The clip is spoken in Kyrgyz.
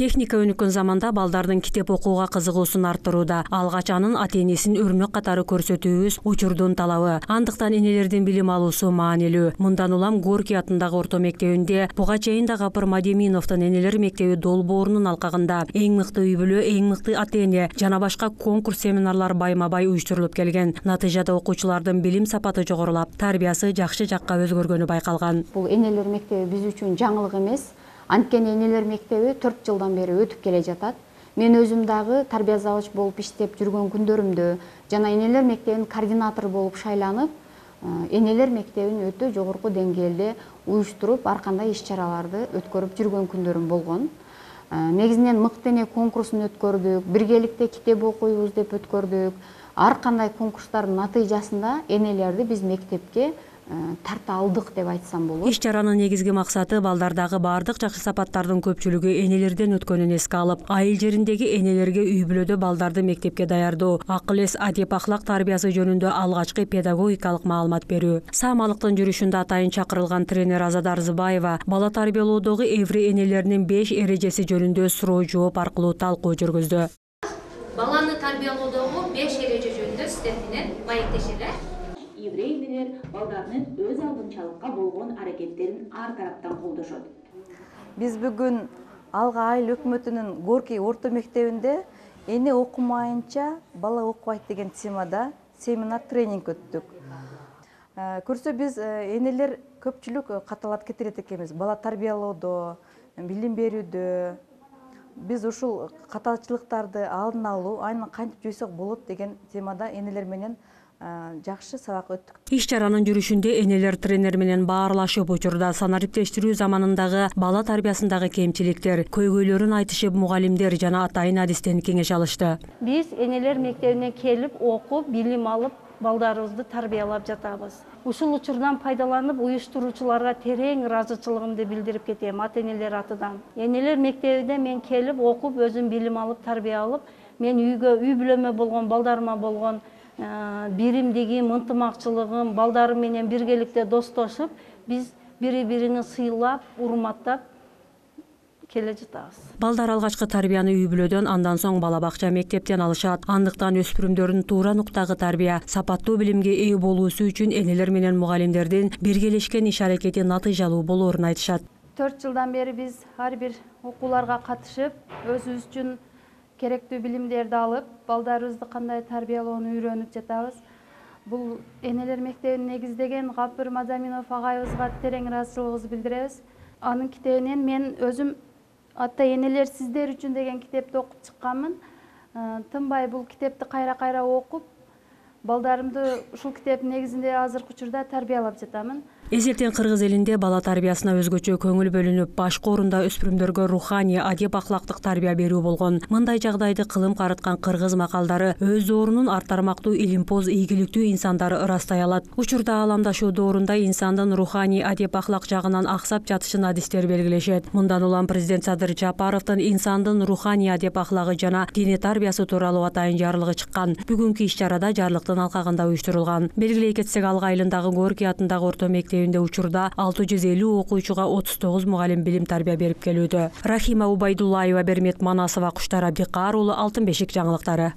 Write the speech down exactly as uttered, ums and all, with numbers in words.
Техника өнүккөн заманда балдардын китеп окууга кызыгуусун арттырууда. Алгач анын ата-энесин өрнөк катары көрсөтүүбүз учурдун талабы. Андыктан энелердин билим алуусу маанилүү. Мындан улам Горький атындагы орто мектебинде буга чейин да Гапыр Мадеминовдун энелер мектеби долбоорунун алкагында эң мыкты үй бүлө, эң мыкты ата-эне жана башка конкурс семинарлар байма-бай уюштурулуп келген. Натыйжада окуучулардын билим сапаты жогорулап, тарбиясы жакшы жакка өзгөргөнү байкалган. Бул энелер мектеби биз үчүн жаңылык эмес. Анткени энелер мектеби төрт жылдан бери өтүп келе жатат. Мен өзүм дагы тарбия завуч болуп иштеп жүргөн күндөрүмдө жана энелер мектебинин координатору болуп шайланып, энелер мектебин өтө жогорку деңгээлде уюштуруп, ар кандай иш-чараларды өткөрүп жүргөн күндөрүм болгон. Негизинен мыкты эне конкурсун өткөрдүк, биргеликте китеп окуйбуз деп өткөрдүк. Ар кандай конкурстардын натыйжасында энелерди биз мектепке тарта алдык деп айтсам болот. Иш-чаранын негизги максаты балдардагы баардык жакшы сапаттардын көпчүлүгү энелерден өткөнүн эске алып, айыл жериндеги энелерге үй бүлөдө балдарды мектепке даярдоо, акыл эс, адеп ахлак тарбиясы жөнүндө алгачкы педагогикалык маалымат берүү. Саамалыктын жүрүшүндө атайын чакырылган тренер Азада Арзыбаева бала тарбиялоодогу эври энелеринин беш эрежеси жөнүндө суроо жооп аркылуу талкуу жүргүздү. Баланы тарбиялоодогу беш эреже жөнүндө сиздер менен маектешели. Еврей энелер балдарынын өз алдынчалыкка болгон аракеттерин ар тараптан колдошот. Биз бүгүн Алга айыл өкмөтүнүн Горький орто мектебинде эне окумайынча бала окубайт деген темада семинар тренинг өттүк. Көрсө биз энелер көпчүлүк каталат кетирет экенбиз. Бала тарбиялоодо, билим берүүдө биз ушул каталчылыктарды алдын алуу, айнын кантип жойсок болот деген темада энелер менен жакшы сабак өттүк. Иш-чаранын жүрүшүндө энелер тренер менен баарлашып, учурда санариптештирүү заманындагы бала тарбиясындагы кемчиликтер, көйгөйлөрүн айтышып, мугалимдер жана атайын адистен кеңеш алышты. Биз энелер мектебине келип, окуп, билим алып, балдарыбызды тарбиялап жатабыз. Ушул учурдан пайдаланып, уюштуруучуларга терең ыраазычылыгымды билдирип кетем ата-энелер атынан. Энелер мектебине мен келип, окуп, өзүм билим алып, тарбия алып, мен үйгө, үй бүлөмө болгон, балдарыма болгон биримдигим, ынтымакчылыгым, балдарым менен биргеликте достошуп, биз бири-бирини сыйлап, урматтап келе жатабыз. Балдар алгачкы тарбияны үй бүлөдөн, андан соң бала бакча, мектептен алышат. Андыктан өспүрүмдөрдүн туура нуктагы тарбия, сапаттуу билимге ээ болуусу үчүн энелер менен мугалимдердин биргелешкен иш-аракети натыйжалуу болоорун айтышат. төрт жылдан бери биз ар бир окууларга катышып, өзүбүз үчүн керектүү билимдерди алып, балдарыбызды кандай тарбиялоону үйрөнүп жатабыз. Бул энелер мектебин негиздеген Гапыр Мадеминов агайыбызга терең ыраазычылыгыбызды билдиребиз. Анын китебинен мен өзүм ата-энелер сиздер үчүн деген китепти окуп чыкканмын. Тынбай бул китепти кайра-кайра окуп, балдарымды ушул китептин негизинде азыркы учурда тарбиялап жатамын. Эзелтен кыргыз элинде бала тарбиясына өзгөчө көңүл бөлүнүп, башкы орунда өспүрүмдөргө руханий, адеп ахлактык тарбия берүү болгон. Мындай жагдайды кылым карыткан кыргыз макалдары өз доорунун ар тармактуу илимпоз, ийгиликтүү инсандары ырастай алат. Учурда ааламдашуу доорунда инсандын руханий, адеп ахлак жагынан аксап жатышын адистер белгилешет. Мындан улам президент Садыр Жапаровдун инсандын руханий, адеп ахлагы жана диний тарбиясы тууралуу атайын жарлыгы чыккан. Бүгүнкү иш-чарада жарлыктын алкагында уюштурулган. Белгилей кетсек, Алга айылындагы Горький атындагы орто мектеби учурда алты жүз элүү окуучуга отуз тогуз мугалим билим тарбия берип келүүдө. Рахима Убайдуллаева, Бермет Манасова, Куштар Абдикар уулу, Алтын бешик жаңылыктары.